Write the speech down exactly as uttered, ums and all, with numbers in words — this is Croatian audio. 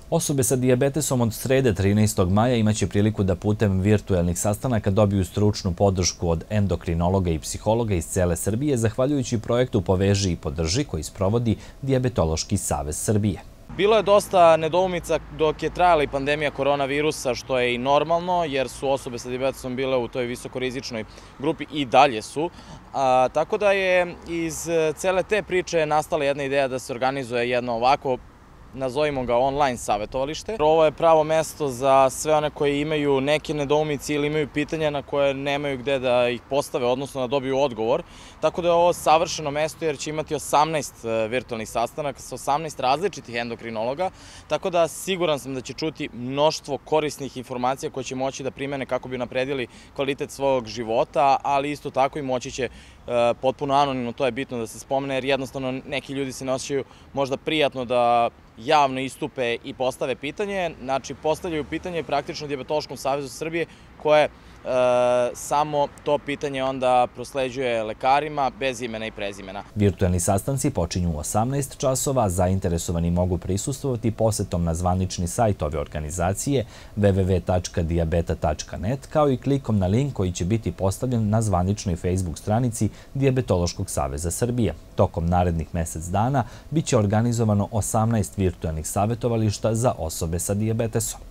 Osobe sa dijabetesom od srede trinaestog maja imaće priliku da putem virtuelnih sastanaka dobiju stručnu podršku od endokrinologa i psihologa iz cele Srbije, zahvaljujući projektu Poveži i podrži koji sprovodi Dijabetološki savez Srbije. Bilo je dosta nedoumica dok je trajala i pandemija koronavirusa, što je i normalno, jer su osobe sa dijabetesom bile u toj visokorizičnoj grupi i dalje su. A, tako da je iz cele te priče nastala jedna ideja da se organizuje jedno ovako, nazovimo ga online savjetovalište. Ovo je pravo mesto za sve one koji imaju neke nedoumice ili imaju pitanja na koje nemaju gde da ih postave, odnosno da dobiju odgovor. Tako da je ovo savršeno mesto jer će imati osamnaest virtualnih sastanaka sa osamnaest različitih endokrinologa. Tako da siguran sam da će čuti mnoštvo korisnih informacija koje će moći da primene kako bi napredili kvalitet svog života, ali isto tako i moći će potpuno anonimno, to je bitno da se spomene, jer jednostavno neki ljudi se ne osjećaju možda prijatno da javno istupe i postave pitanje. Znači, postavljaju pitanje praktično Dijabetološkom savezu Srbije koje e, samo to pitanje onda prosleđuje lekarima bez imena i prezimena. Virtuelni sastanci počinju u osamnaest časova, zainteresovani mogu prisustvovati posetom na zvanični sajt ove organizacije w w w tačka dijabeta tačka net kao i klikom na link koji će biti postavljen na zvaničnoj Facebook stranici Dijabetološkog saveza Srbije. Tokom narednih mesec dana biće organizovano osamnaest virtuelnih savjetovališta za osobe sa dijabetesom.